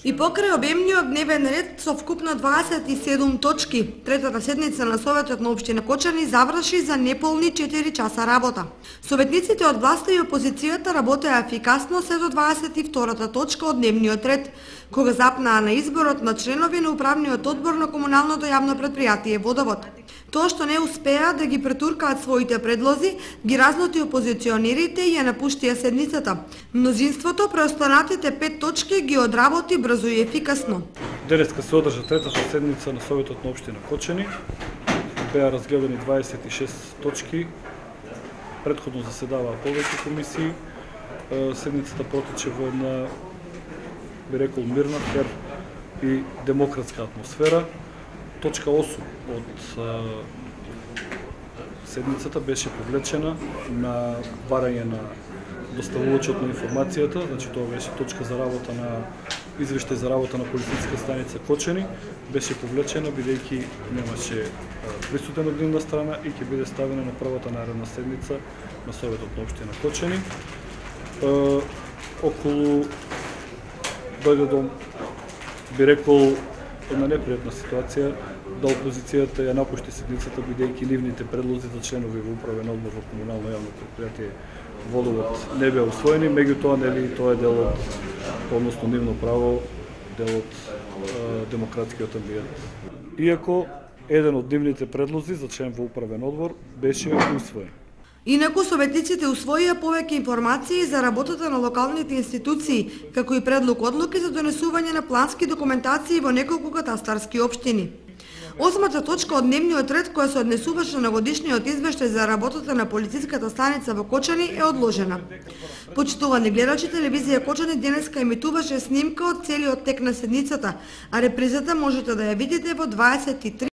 И покрај обемниот дневен ред со вкупно 27 точки, третата седница на Советот на општина Кочани заврши за неполни 4 часа работа. Советниците од власта и опозицијата работеа ефикасно се до 22-та точка од дневниот ред, кога запнаа на изборот на членови на управниот одбор на комуналното јавно предпријатие Водовод. Тоа што не успеа да ги претуркаат своите предлози, ги разнути опозиционерите и ја напуштија седницата. Мнозинството преостанатите 5 точки ги одработи брзо и ефикасно. Денеска се одржа третата седница на Советот на општина Кочани. Беа разгледани 26 точки. Претходно заседаваа повеќе комисии. Седницата протече во една, би рекол, мирна, фер и демократска атмосфера. Точка 8 од седницата беше повлечена на барање на доставувачот на информацијата, значи тоа беше точка за работа на извештај за работа на полициска станица Кочани, беше повлечена бидејќи немаше присутен од нивна страна и ќе биде ставена на првата наредна седница на Советот на општина Кочани. Околу дојде до, би рекол, една непријатна ситуација да опозицијата ја напушти седницата бидејќи нивните предлози за членови во управен одбор во комунално јавно предпријатие Водовод не беа усвоени, меѓутоа нели тоа е дел од, односно нивно право, дел од демократскиот амбиент. Иако еден од нивните предлози за член во управен одбор беше усвоен. Инаку советниците усвоија повеќе информации за работата на локалните институции, како и предлог одлуки за донесување на плански документации во неколку катастарски општини. Осмата точка од дневниот ред, која се однесуваше на годишниот извештај за работата на полициската станица во Кочани, е одложена. Почитувани гледачи, телевизија Кочани денеска емитуваше снимка од целиот тек на седницата, а репризата можете да ја видите во 23